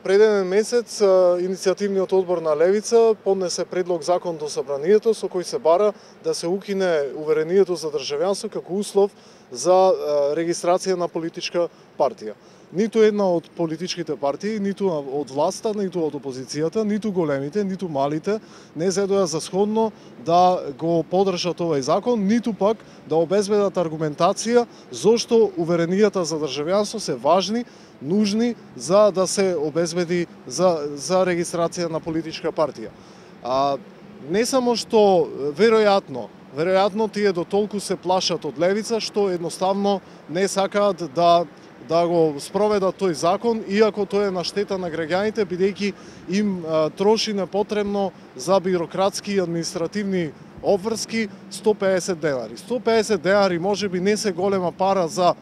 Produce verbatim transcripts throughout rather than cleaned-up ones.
Пред еден месец иницијативниот одбор на Левица поднесе предлог закон до Собранието со кој се бара да се укине уверението за државјанство како услов за регистрација на политичка партија. Ниту една од политичките партии, ниту од власта, ниту од опозицијата, ниту големите, ниту малите не зедоа за сходно да го поддржат овој закон, ниту пак да обезбедат аргументација зошто уверенијата за државјанство се важни, нужни за да се обезбеди за, за регистрација на политичка партија. А, не само што веројатно, веројатно тие до толку се плашат од Левица што едноставно не сакаат да да го спроведат тој закон, иако тој е на штета на граѓаните, бидејќи им а, троши непотребно за бирократски и административни обврски сто пеесет денари. сто пеесет денари можеби не се голема пара за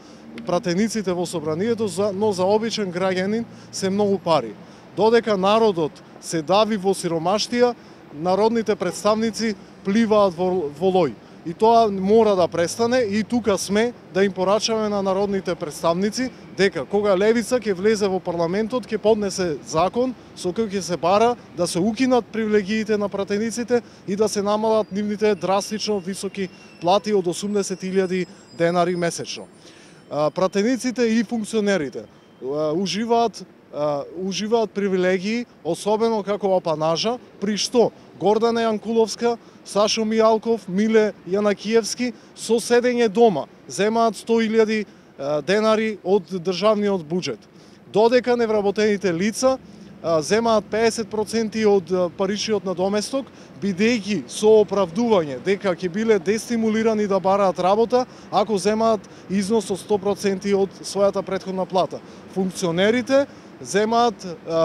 пратениците во Собранието, но за обичен граѓанин се многу пари. Додека народот се дави во сиромаштија, народните представници пливаат во волој. И тоа мора да престане и тука сме да им порачаме на народните представници дека кога Левица ќе влезе во парламентот ќе поднесе закон со кој ќе се бара да се укинат привилегиите на пратениците и да се намалат нивните драстично високи плати од осумдесет илјади денари месечно. Пратениците и функционерите уживаат уживаат привилегии, особено како апанажа, при што Гордана Јанкуловска, Сашо Мијалков, Миле Јанакиевски со седење дома земаат сто илјади денари од државниот буџет. Додека невработените лица земаат пеесет проценти од паричниот надоместок, бидејќи со оправдување дека ќе биле дестимулирани да бараат работа ако земаат износ од сто проценти од својата претходна плата. Функционерите земаат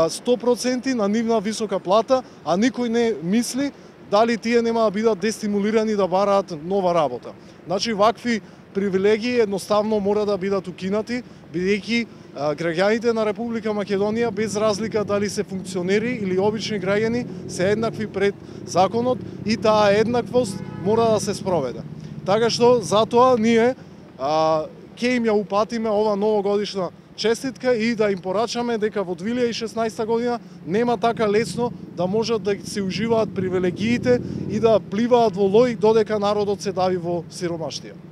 сто проценти на нивна висока плата, а никој не мисли дали тие нема да бидат дестимулирани да бараат нова работа. Значи, вакви привилегии едноставно мора да бидат укинати, бидејќи граѓаните на Република Македонија, без разлика дали се функционери или обични граѓани, се еднакви пред законот и таа еднаквост мора да се спроведе. Така што, затоа ние а, ќе им ја упатиме ова новогодишна честитка и да им порачаме дека во две илјади и шеснаесета година нема така лесно да можат да се уживаат привилегиите и да пливаат во лој додека народот се дави во сиромаштија.